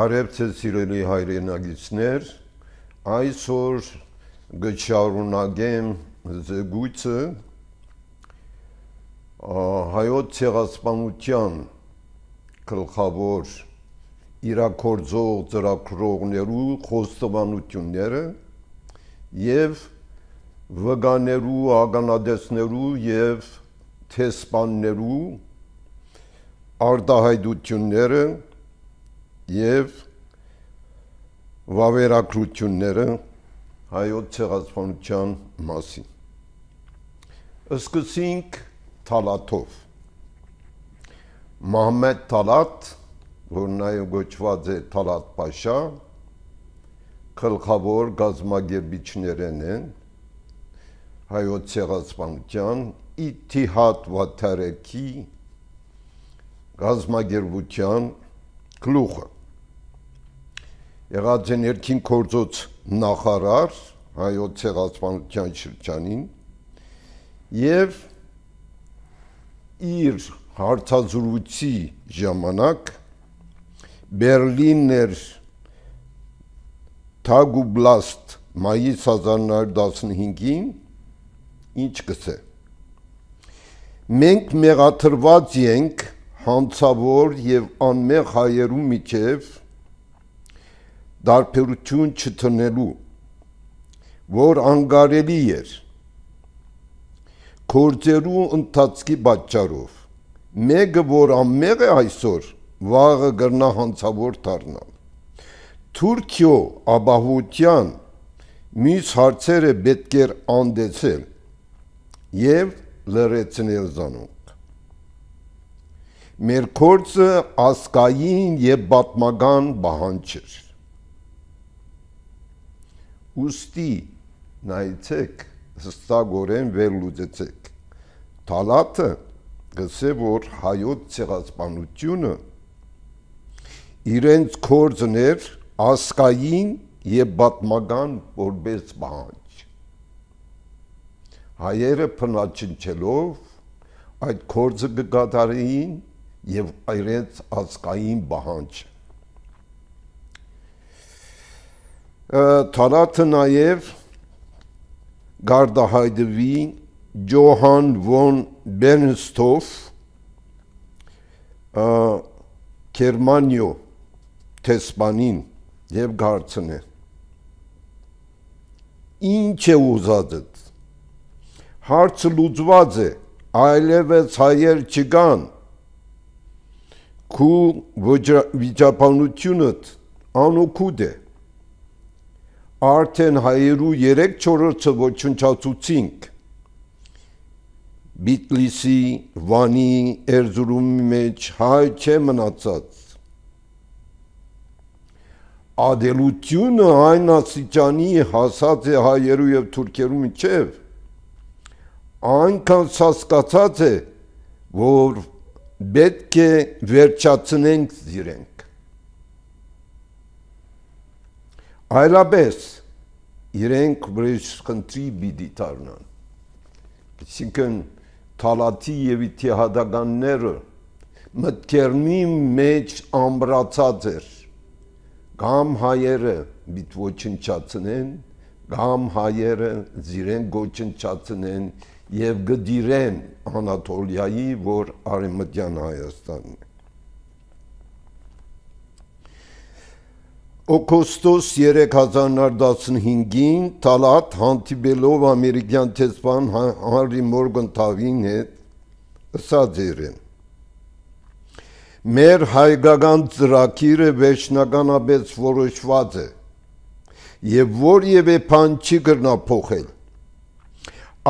Բարև ձեզ սիրելի հայրենագիտներ, այսօր գշարունակեմ զեկույցը հայոց ցեղասպանության գլխավոր իրաքորձող ծրագրողներու խոստովանությունները եւ վկաներու, ականատեսներու եւ տեսփաններու արտահայտությունները եւ վավերագրությունները հայոց ցեղասպանության մասին։ Սկսենք Թալաթով։ Մահմեդ Թալաթ, որ նաև գոչված է Թալաթ Փաշա, գլխավոր գազագերբիչներն են հայոց ցեղասպանության Իթիհադ Վաթարեքի գազագերբության գլուխը։ Եղած է ներքին գործոց նախարար հայոց ցեղասպանության շրջանին եւ իր հարցազրույցի ժամանակ Բերլիներ Թագուբլաստ մայիս 1915-ին ինչ կսե։ Մենք մեղադրված ենք հանցավոր եւ անմեղ հայերու միջև դարբերություն չտնելու, որ անկարելի էր գործերու ընթացքի պատճառով, մեկը որ անմեղ է այսօր, վաղը կգնա հանցավոր դառնալ։ Թուրքիո ապահովության մյուս հարցերը պետք էր անդեցել եւ լրացնել զանոնք։ Մեր գործը ազգային եւ պատմական պահանջ էր։ Ուստի նայեցեք, հստակորեն վերլուծեցեք։ Թալաթը գսե, որ հայոց ցեղասպանությունը իրենց գործն էր ազգային եւ պատմական որպես պահանջ։ Հայերը փնաչնչելով այդ գործը կկատարեին եւ իրենց ազգային պահանջ։ Թալաթը նաև գարդահայտվի Ջոհան վոն Բերնստոֆ Գերմանիո տեսփանին եւ գարցնե։ Ինչ է ուզածդ։ Հարցը լուծված է, այլևս հայեր չկան։ Քու վիճաբանությունդ անօգուտ է։ Արդեն հայերու 3/4-ը ոչնչացուցինք։ Բիտլիսի, Վանի, Էրզուրումի մեջ հայ չէ մնացած։ Ադելությունը այն աստիճանի հասած է հայերու եւ թուրքերու միջև, այնքան սասկացած է, որ պետք է վերջացնենք իրենք։ Այլապես իրենք վրեժխնդրի պիտի դառնան։ Այսինքն Թալաթի եւ իթիհադականները մտքերնի մեջ ամրացած էր։ Կամ հայերը պիտի ոչնչացնեն, կամ հայերը իրեն ոչնչացնեն եւ գդիրեն Անատոլիայի, որ արևմտյան Հայաստանն է։ Օգոստոս 2015-ին Թալաթ հանդիպելով ամերիկյան տեսփան Հանրի Մորգենթավին հետ ասաց իրեն. Մեր հայկական ծրագիրը վերջնականապես որոշված է եւ որևէ բան չի կրնա փոխել։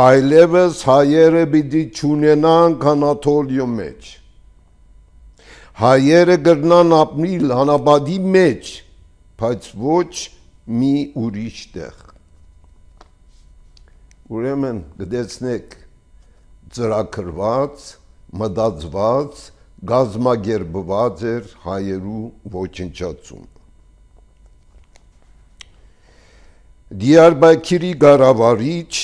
Այլևս հայերը պիտի չունենան Անատոլիո մեջ։ Հայերը կրնան ապրիլ անապատի մեջ, բայց ոչ մի ուրիշ տեղ։ Ուրեմն գտեցնեք ծրագրված, մտածված, գազմագերբված էր հայերու ոչնչացում։ Դիարբաքիրի գարավարիչ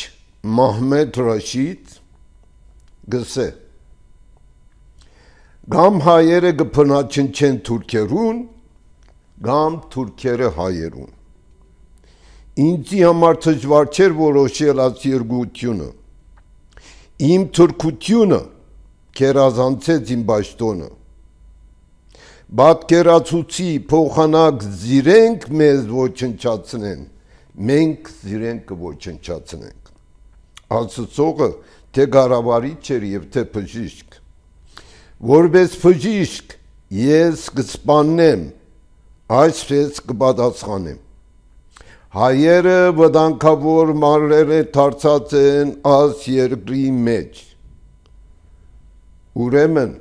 Մահմեդ Ռաշիդ գսե Գամ հայերը կփնաչնչեն թուրքերուն, կամ թուրքերը հայերուն։ Ինձի համար դժվար չէր որոշել այս երկությունը։ Իմ թուրքությունը քերազանցեց իմ պաշտոնը։ Պատկերացուցի փոխանակ զիրենք մեզ ոչնչացնեն, մենք զիրենք կոչնչացնենք։ Ասացողը թե գարավարիչ էր եւ թե բժիշկ։ Որպես բժիշկ ես կսպանեմ, այսպես կպատասխանեմ։ Հայերը վտանգավոր մարրերը դարձած են այս երկրի մեջ։ Ուրեմն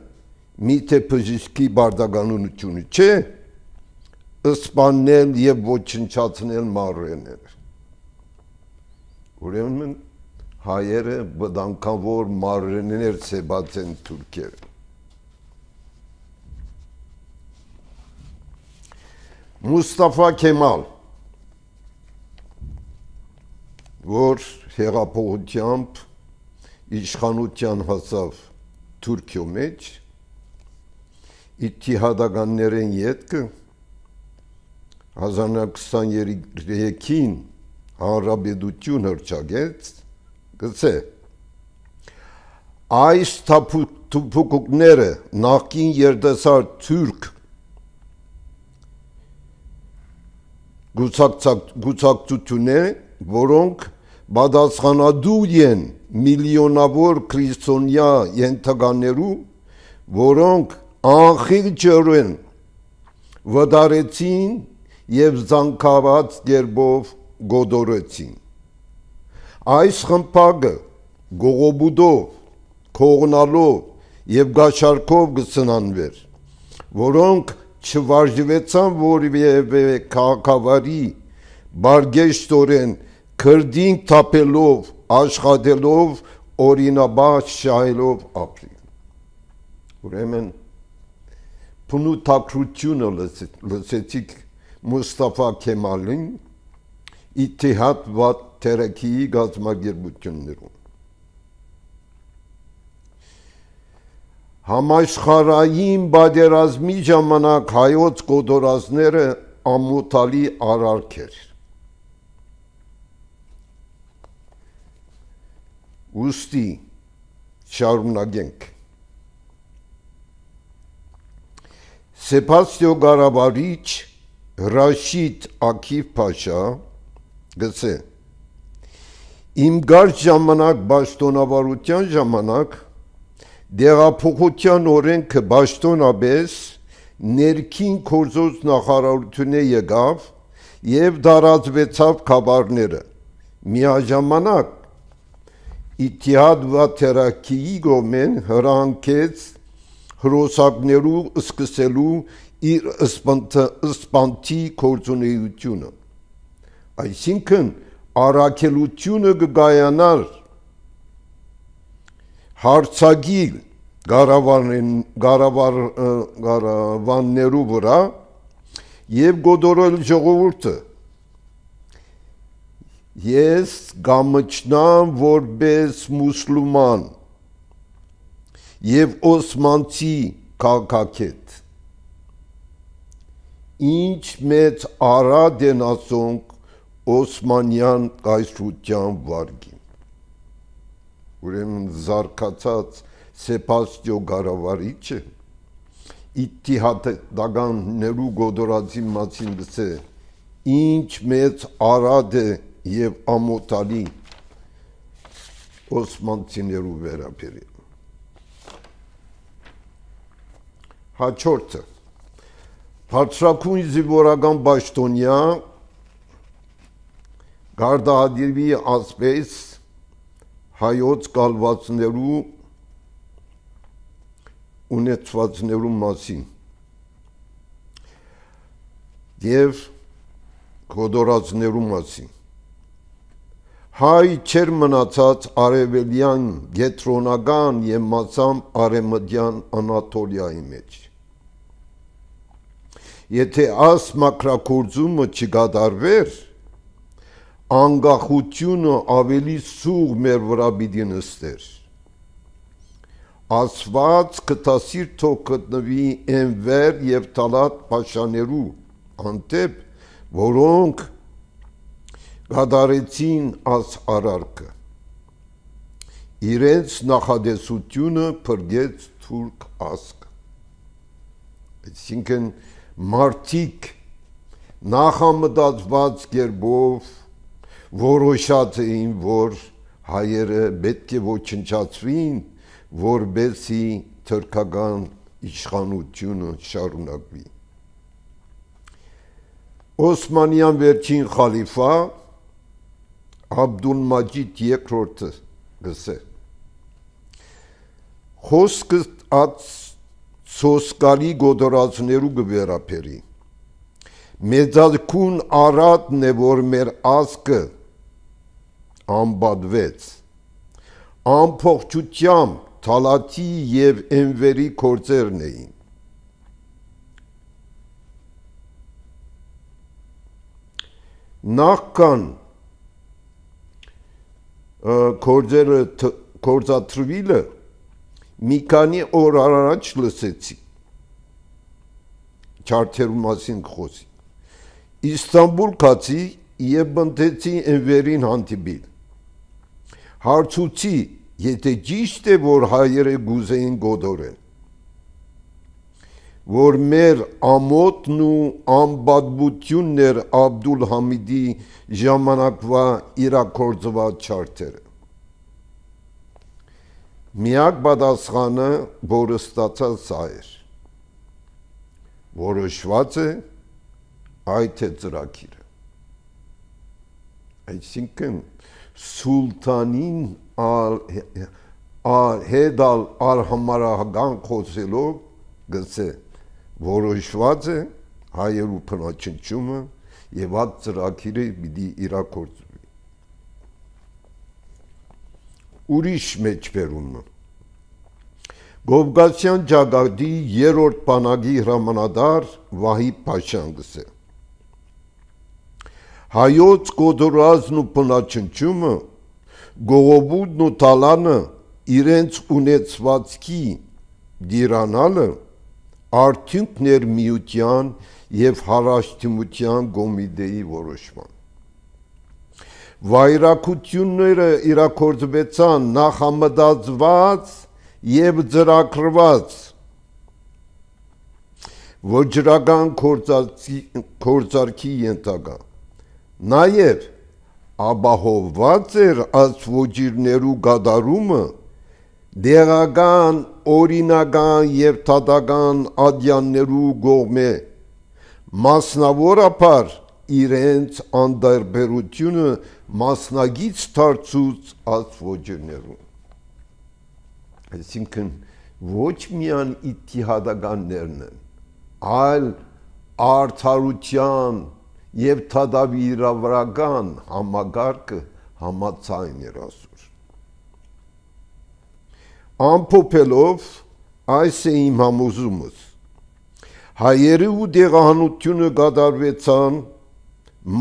միթե բժշկի բարդականությունը չէ սպանել եւ ոչնչացնել մարրերները։ Ուրեմն հայերը վտանգավոր մարրերներ սեբած են թուրքերը։ Մուստաֆա Քեմալ, որ հեղափոխությամբ իշխանության հասավ Թուրքիո մեջ, իթիհադականներեն ետքը 1923-ին հանրապետություն հռչակեց, գցե, այս թափուկները նախկին երիտասարդ թուրք գուցակցություններ, որոնք պատասխանատու են միլիոնավոր քրիստոնյա ենթականերու, որոնք անխիղճորեն վտարեցին եւ զանգված կերպով գոդորեցին։ Այս խմբակը գողոբուդով, քողնալով եւ գաշարքով կսնանվեր, որոնք չվարժվեցան որևէ քաղաքավարի բարգեշտորեն քրդին թափելով, աշխատելով, օրինաբաց շահելով ապրի։ Ուրեմն փնութակրությունը լսեցիք Մուստաֆա Քեմալին իթիհադ վատ թերեքիի գազམ་ագերբություններում։ Համաշխարհային պատերազմի ժամանակ հայոց կոտորածները ամոթալի արարք էր։ Ուստի շարունակենք։ Սեբաստիո Գարավարիչ Ռաշիդ Աքիվ Փաշա գցե իմ գարշ ժամանակ պաշտոնավարության ժամանակ դեղափոխության օրենքը պաշտոնապես ներքին գործոց նախարարությունը եկավ եւ դարածվեցավ խաբարները միաժամանակ իթիհադ վաթերակիի գոմեն հրանքեց հրոսակներու սկսելու իր սպանթի գործունեությունը այսինքն առաքելությունը կգայանար հարցագիր գարավաններու վրա եւ գոդորել ժողովուրդը ես գամչնամ որպես մուսուլման եւ օսմանցի քաղաքագետ ինչ մեծ արադ են ասոնք օսմանյան կայսրության վարգին ուրեմն զարգացած Սեբաստիո Գարավարիչը իթիհադականներու գոդորածի մասին գցե ինչ մեծ արադ է եւ ամոթալի օսմանցիներու վերաբերյալ հաջորդը բարձրակույն զինվորական պաշտոնյա գարդադիրվի ասպես հայոց կալվածներու ունեցվածներու մասին եւ գոդորածներու մասին հայ չեր մնացած արևելյան գետրոնական եւ մասամբ արևմտյան Անատոլիայի մեջ եթե աս մակրակորձումը չգադարվեր անկախությունը ավելի սուղ մեր վրա պիտի նստեր ասված կտասիր թող գտնվի Էնվեր եւ Տալատ Փաշաներու անտեպ, որոնք գադարեցին աս արարքը։ Իրենց նախադեսությունը փրկեց թուրք ազգը։ Այսինքն մարդիկ նախամտածված կերպով որոշած էին, որ հայերը պետք է ոչնչացվին, որբեսի թուրքական իշխանությունը շարունակվի։ Օսմանյան վերջին խալիֆա Աբդուլմաջիդ II գսե խոսքը ած սոսկալի գոդորածներու գվերապերի մեծակուն արատն է, որ մեր ազգը անբադվեց ամփոխչությամբ թալաթի եւ ընվերի կործերն էին նախքան կործատրվիլը մի քանի օր առաջ լսեցի չարթերու մասին խոսի Իստանբուլ կացի եւ բնտեցի ընվերին հանդիպիլ հարցուցի եթե ճիշտ է որ հայերը գուզեին գոդորեն որ մեր ամոթն ու անբադբություններ Աբդուլ Համիդի ժամանակվա իրակորձված չարթերը միակ պատասխանը որը ստացած սա էր որոշված է այդ է ծրագիրը այսինքն սուլտանին հետալ արհամարահական խոսելով գսե որոշված է հայերու փնաչնչումը եւ այդ ծրագիրը պիտի իրագործվի ուրիշ մեջբերումը Գովգասյան ջագադի երրորդ բանակի հրամանատար Վահիբ Փաշան գսե հայոց գոդորածն ու փնաչնչումը գողոբուդն ու տալանը իրենց ունեցվածքի դիրանալը արդյունքներ միության եւ հարաշտիմության կոմիտեի որոշման վայրակությունները իրակորձվեցան նախամտածված եւ ծրագրված ոչրական կործարքի ենթակա նաեւ ապահովված էր այս ոչիրներու գադարումը դեղական, օրինական եւ թատական ադյաններու գողմե մասնավորապես իրենց անդարբերությունը մասնագից դարձուց այս ոչիրներուն այսինքն ոչ միայն իթիհադականներն են այլ արդարության եւ թադավիրավրական համագարկը համացայն էր ասուր ամփոփելով այս է իմ համոզումս հայերը ու դեղահանությունը կատարվեցան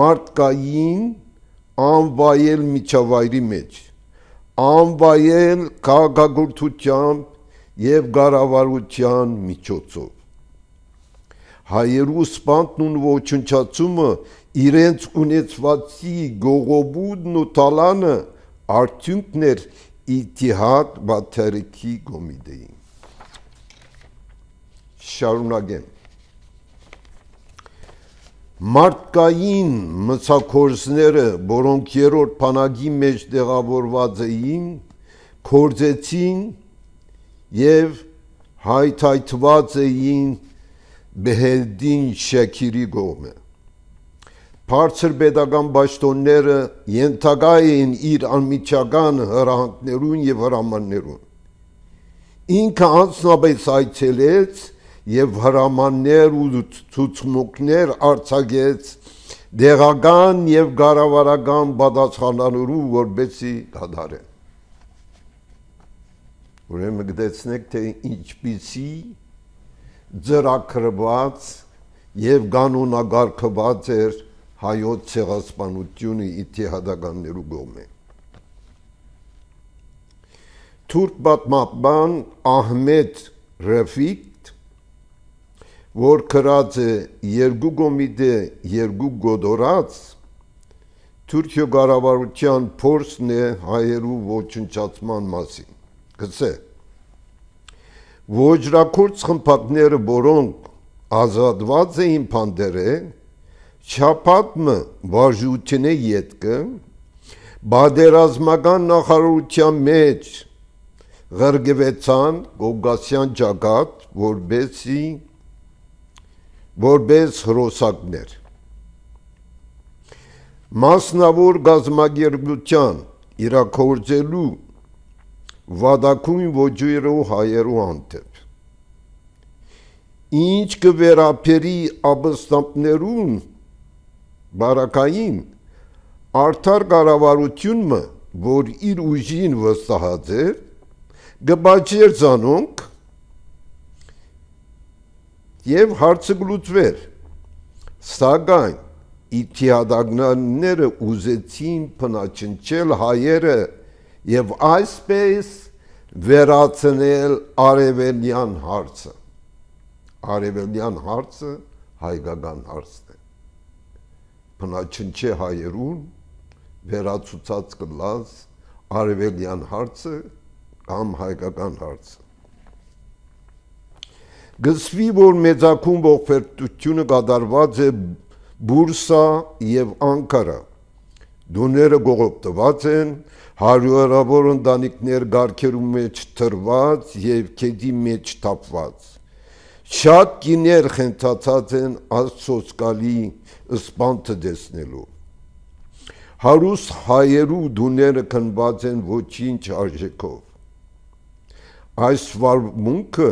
մարդկային անվայել միջավայրի մեջ անվայել քաղաքագործությամբ եւ կառավարության միջոցով հայերու սպանտն ու ոչնչացումը իրենց ունեցվածի գողոբուդն ու տալանը արդյունքներ Իթիհադ բաթերքի կոմիտեին շարունակեմ մարդկային մցակորձները որոնք երրորդ բանակի մեջ տեղավորված էին կործեցին եւ հայթայթված էին Բեհեդին Շաքիրի կողմը բարձր պետական պաշտոնները ենթակա էին իր անմիջական հրահանգներուն եւ հրամաններուն ինքը անձնապես այցելեց եւ հրամաններ ու ցուցմունքներ արձակեց դեղական եւ կառավարական պատասխանատվերու որբեսի դադարեն ուրեմն գտեցնեք թե ինչպիսի ծրագրված եւ կանոնակարգված էր հայոց ցեղասպանությունը իթիհադականներու կողմէ թուրք պատմաբան Ահմեդ Ռեֆիկ որ կրած է երկու գոմիդե երկու գոդորած, Թուրքիո կառավարության փորձն է հայերու ոչնչացման մասին։ Գցե, ոճրակորց խմբակները, որոնք ազատված էին փանդերը, չափատմը վարժութենե ետքը, բادرազմական նախարարության մեջ ղրգվեցան Կովկասյան ճակատ, որպես հրոսակներ։ Մասնավոր գազագերբության իրաքորձելու վադակույն ոճերու հայերու հանդեպ։ Ինչ կվերապերի ապստամբներուն բարակային արդար կառավարությունը, որ իր ուժին վստահած էր, գբաճեր ցանոնք եւ հարցը գլուծվեր, սակայն իթիադագնանները ուզեցին փնաչնչել հայերը եւ այսպես վերացնել արևելյան հարցը։ Արևելյան հարցը հայկական հարցն է։ Փնաչնչե հայերուն վերացուցած կլազ արևելյան հարցը կամ հայկական հարցը։ Գսվի, որ մեծակում ողբերգությունը կատարված է Բուրսա եւ Անկարա, դուները գողոպտված են, հարյուրավոր ընտանիքներ գարքերու մեջ թրված եւ քեդի մեջ թափված, շատ կիներ խենթացած են աստծոսկալի սպանթը դեսնելու, հարուստ հայերու դուները քնված են ոչինչ արժեքով, այս վարմունքը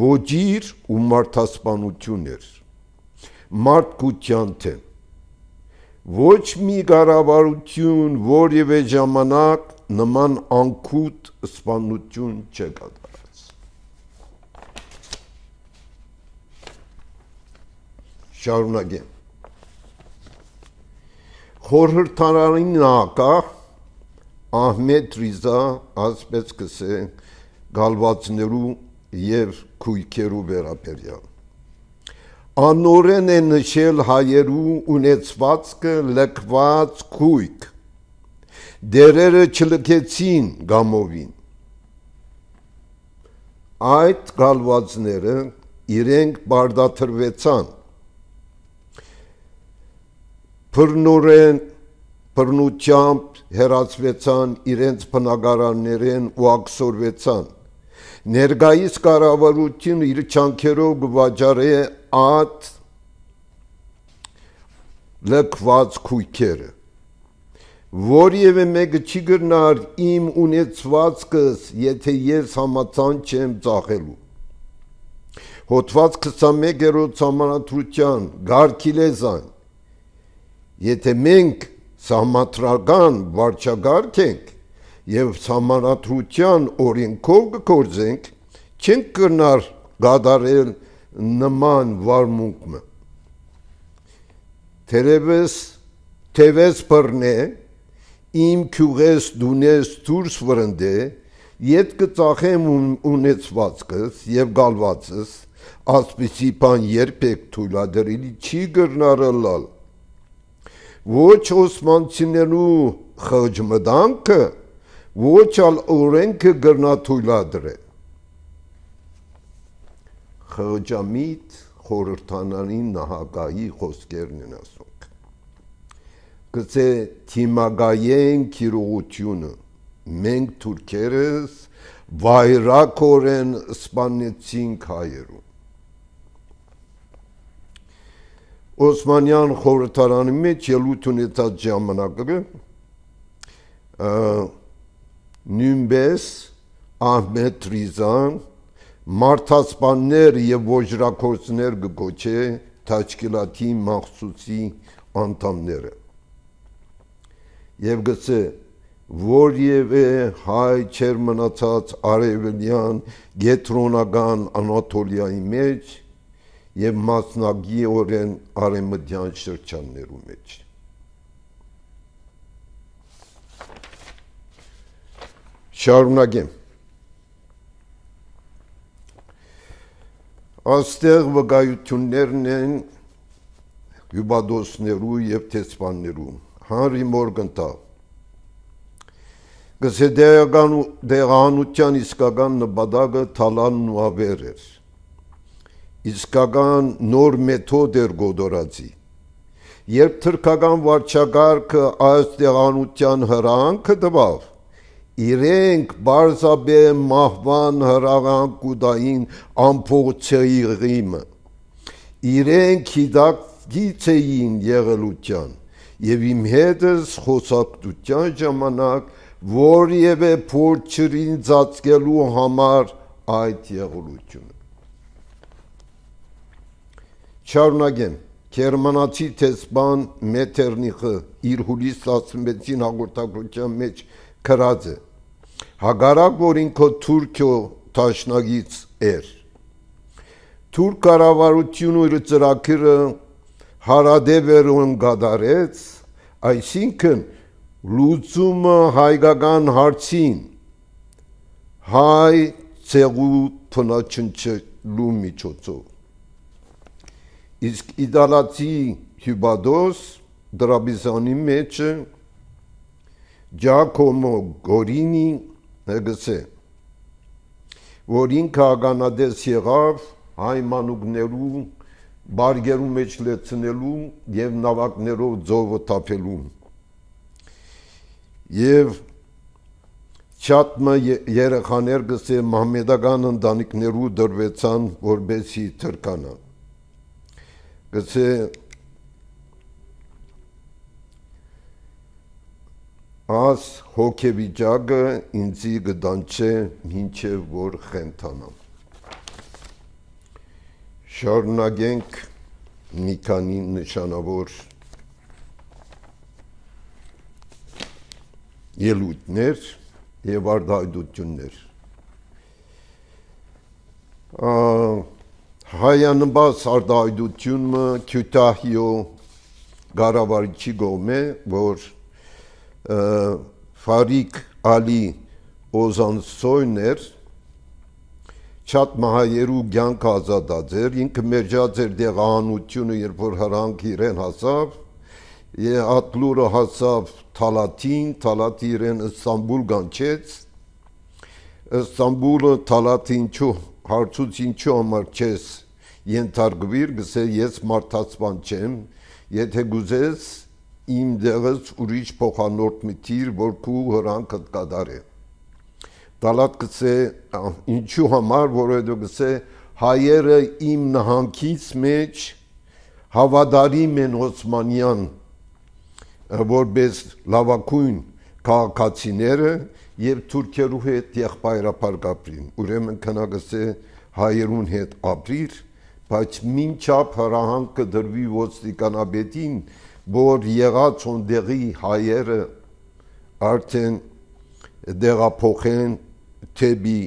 ոճիր ու մարդասպանություն էր, մարդկության թեմ, ոչ մի կառավարություն որևէ ժամանակ նման անքուտ սպանություն չկատարած։ Շարունակեմ։ Խորհրդարանին նակախ Ահմեդ Ռիզա ասպես կսե գալվածներու եւ քույքերու վերաբերյալ։ Անորեն է նշել հայերու ունեցվածքը լքված քույք, դերերը չլքեցին գամովին։ Այդ գալվածները իրենք բարդաթրվեցան, բռնությամբ հեռացվեցան իրենց բնակարաններեն ու ակսորվեցան, ներկայիս կառավարությունը իր չանքերով կվաճառե այդ լքված քույքերը, որևէ մեկը չի գրնար իմ ունեցվածքս, եթե ես համաձայն չեմ ծախելու։ Հոդված 21-րդ Սահմանադրության գարքիլեզան, եթե մենք սահմանադրական վարչագարկ ենք եւ սահմանադրության օրենքով կգործենք, չենք կրնար գադարել նման վարմունքը։ Թևես բռնե, իմ քյուղես դունես դուրս վրընդե, ետ կծախեմ ունեցվածքս եւ գալվածս, ասպիսի բան երբեք թույլատրելի չի կրնարըլալ։ Ոչ օսմանցիներու խղճմտանքը, ոչ ալ օրենքը գրնա թույլատրե։ Խղճամիտ խորհրդանանի նահագահի խոսքերն են ասոնք։ Գցե թիմագայեն քիրողությունը, մենք թուրքերս վայրակորեն սպանեցինք հայերու։ Օսմանյան խորհրդարանի մեջ ելույթ ունեցած ժամանակը նույնպես Ահմեդ Ռիզան մարդասպաններ եւ ոճրակորցներ կգոչե Թաչկիլաթի մախսուսի անդամները եւ գցե որևէ հայ չեր մնացած արևելյան գետրոնական Անատոլիայի մեջ եւ մասնագիտորեն արևմտյան շրջաններու մեջ։ Շարունակեմ։ Աստեղ վկայություններն են հյուբադոսներու եւ տեսփաններու Հանրի Մորգենթալ գսե դեղանության իսկական նպատակը թալանն ու ավեր էր իսկական նոր մեթոդ էր գոդորացի երբ թրքական վարչակարգը այս դեղանության հրանքը տվավ իրենք բարձաբե մահվան հրաղանկուդային ամփոփցեի ղիմը իրենք հիդակից էին եղելության եւ իմ հետս խոսակցության ժամանակ որևէ փորձ չրին ծածկելու համար այդ եղելությունը Շարունակեմ Գերմանացի տեսփան Մեթերնիխը իր հուլիս 16-ին հաղորդագրության մեջ գրած է հագարակ որ ինքը Թուրքիո տաշնագից էր Թուրք կառավարությունը իր ծրագիրը հարադեվերուն գդարեց այսինքն լուծումը հայկական հարցին հայ ցեղու փնաչնչելու միջոցով իսկ իդալացի հյուբադոս դրաբիզանի մեջ Ջակոմո Գորինի հգսե որ ինքը ականադես եղավ հայ մանուկներու բարգերու մեջ լեցնելու եւ նավակներով ծովը թափելու եւ չաթմը երեխաներ գսե մահմեդական ընտանիքներու դրվեցան որբեսի թրկանան գսե աս հոգեվիճակը ինձի գդանչե մինչև որ խենթանամ շարունակենք մի քանի նշանավոր ելույթներ եւ արտահայտություններ հայանբաս արտահայտությունը Քյութահիո գարավարիչի գոմե որ Ֆարիկ Ալի Օզանսոյներ Չատ մահայերու գյանք ազատաձեր ինքը մեջած էր դեղանությունը երբ որ հրանք իրեն հասավ եւ ատլուրը հասավ Թալաթին Թալաթի իրեն Ստամբուլ գանչեց Ստամբուլը Թալաթին չու հարցուց ինչու համար չես ենթարկվիր գսե ես մարդացման չեմ եթե գուզես իմ դեղս ուրիշ փոխանորդ մտիր որ քու հրանքդ կդարե Թալաթ գսե ինչու համար որովհետեւ գսե հայերը իմ նահանգից մեջ հավադարիմ են Օսմանյան որպես լավակույն քաղաքացիները եւ թուրքերու հետ եղբայրապար կապրին ուրեմն քնագսե հայերուն հետ ապրիր բայց մինչապ հրահանգը դրվի ոստիկանաբետին որ եղած ոնդեղի հայերը արդեն դեղափոխեն թեբի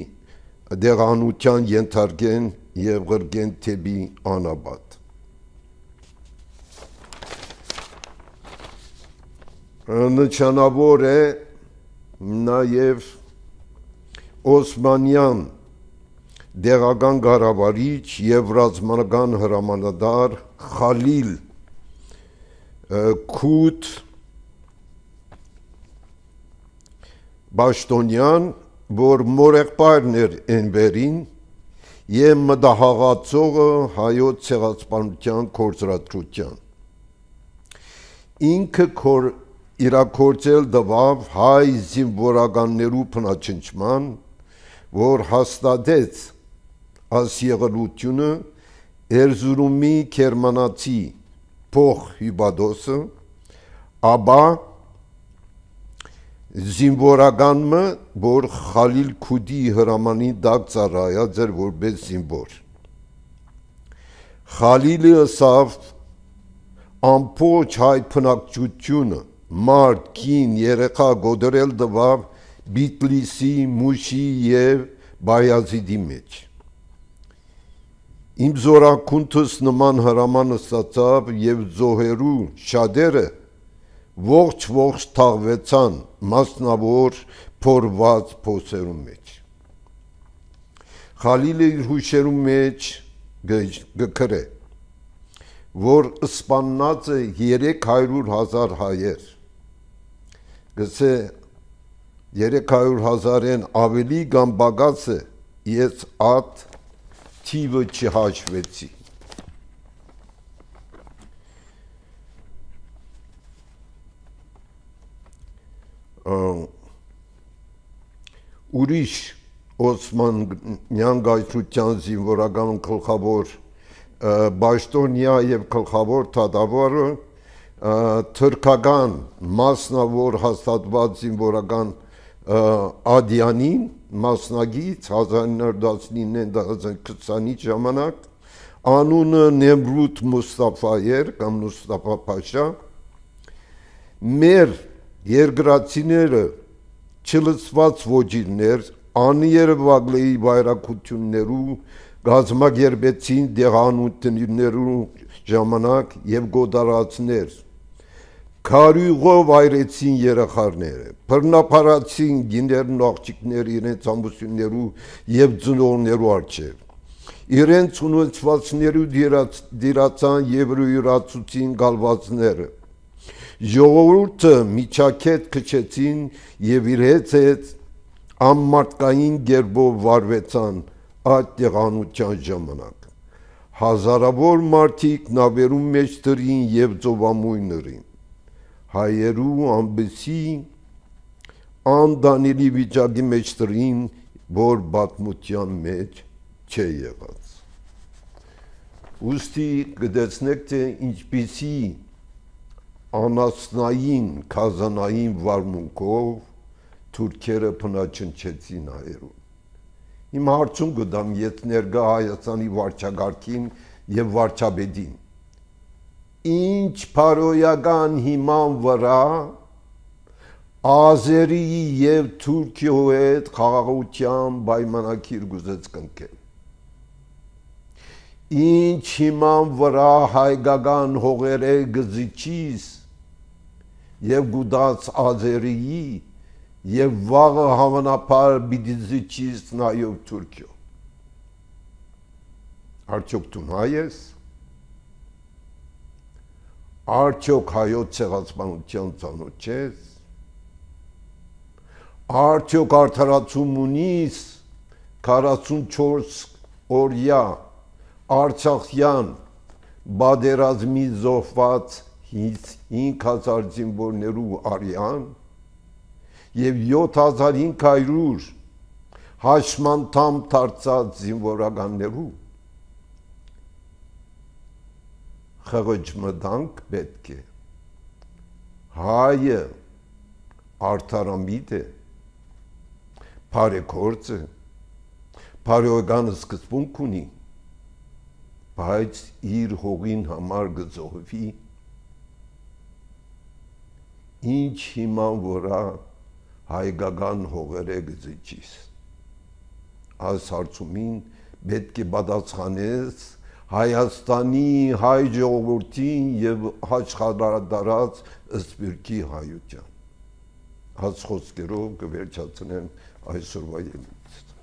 դեղանության ենթարկեն եւ գրգեն թեբի անաբադ Նշանավոր է նաև Օսմանյան դեղական գարավարիչ եւ ռազմական հրամանատար Խալիլ Քութ Բաշտոնյան, որ մորեղբայրն էր Էնվերին եւ մտահաղացողը հայոց ցեղասպանության կորցրածության ինքը իրակորձել դվավ հայ զինվորականներու փնաչնչման, որ հաստատեց այս եղելությունը Էրզուրումի քերմանացի փոխ հյուբադոսը, ապա զինվորականը, որ Խալիլ Քուդի հրամանի դակ ծառայած էր որպես զինվոր։ Խալիլը ասավ ամբողջ հայ բնակչությունը մարդ, կին, երեխա գոդրել դվավ Բիտլիսի, Մուշի եւ Բայազիդի մեջ։ Իմ զորակունթս նման հրամանը ստացավ եւ զոհերու շատերը ողջ թաղվեցան մասնավոր փորված փոսերու մեջ։ Խալիլը իր հուշերու մեջ գկրե, որ սպաննած է 300,000 հայեր, գսե 300,000-են ավելի կամ բագաց է, ես ատ թիվը չհաշվեցի։ Ուրիշ Օսմանյան գայթության զինվորական գլխավոր Բաշտոնյա եւ գլխավոր թադավորը թրքական մասնավոր հաստատված զինվորական Ադյանին մասնագիծ 1919-2020-ի ժամանակ անունը Նեմրութ Մուստաֆա էր կամ Մուստաֆա Փաշա մեր երկրացիները չլսված ոչիրներ աներվագլեի բայրակություններու գազմագերբեցին դեղանություններու ժամանակ եւ գոդարացներ քարյուղով այրեցին երախարները բռնապարացին գիներն աղջիկներ իրենց ամուսիններու եւ ծնողներու առջեւ իրենց ունեցվածներու դիրացան եւ յուրացուցին գալվածները ժողովուրդը միջակետ քչեցին եւ իր հետ ամմարտկային գերբով վարվեցան այդ տեղանության ժամանակ հազարավոր մարդիկ նավերում մեջ դրին եւ ծովամույններին հայերու ամբեսի անդանելի վիճակի մեջ դրին որ բաթմության մեջ չէ եղած ուստի գտեցնեք թե ինչպիսի անասնային քազանային վարմունքով թուրքերը փնաչնչեցին հայերուն Իմ հարցում գտամ ես ներկա Հայաստանի վարչագահին եւ վարչապետին ինչ փարոյական հիման վրա Ազերի եւ Թուրքիո հետ խաղաղության պայմանագիր գուզեց կնքել Ինչ հիման վրա հայկական հողերը գզիչիս եւ գուդած Ազերիի եւ վաղը հավանաբար պիտի զիջիս նաեւ Թուրքիո Արդյոք դու հայ ես Արդյոք հայոց ցեղասպանության ծանոթ ես Արդյոք արդարացում ունիս 44 օրյա Արցախյան բادرազմի զոհված 5000 զինվորներու արյան եւ 7500 հաշմանդամ դարձած զինվորականներու խղճմտանք պետք է հայը արդարամիտ է բարեգործ է բարոյական սկզբունք ունի բայց իր հողին համար գծողվի ինչ հիման որա հայկական հողերը գծիչիս այս հարցումին պետք է պատասխանես Հայաստանի հայ ժողովրդին եւ հաճախադարած սպիրկի հայության այս խոսքերով կվերջացնեմ այսօրվա ելույթը